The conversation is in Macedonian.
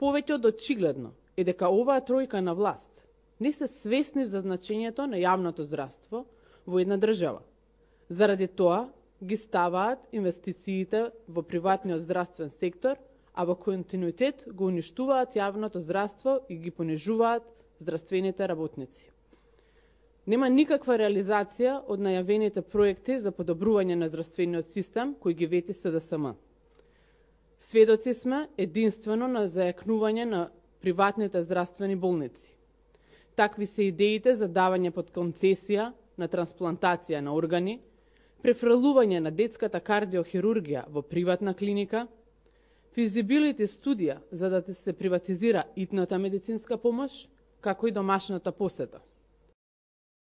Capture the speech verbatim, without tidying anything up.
повеќе од очигледно е дека оваа тројка на власт не се свесни за значењето на јавното здравство во една држава. Заради тоа ги ставаат инвестициите во приватниот здравствен сектор, а во континуитет го уништуваат јавното здравство и ги понижуваат здравствените работници. Нема никаква реализација од најавените проекти за подобрување на здравствениот систем кои ги вети С Д С М. Сведоци сме единствено на зајакнување на приватните здравствени болници. Такви се идеите за давање под концесија на трансплантација на органи, префрлување на детската кардиохирургија во приватна клиника, физибилити студија за да се приватизира итната медицинска помош, како и домашната посета.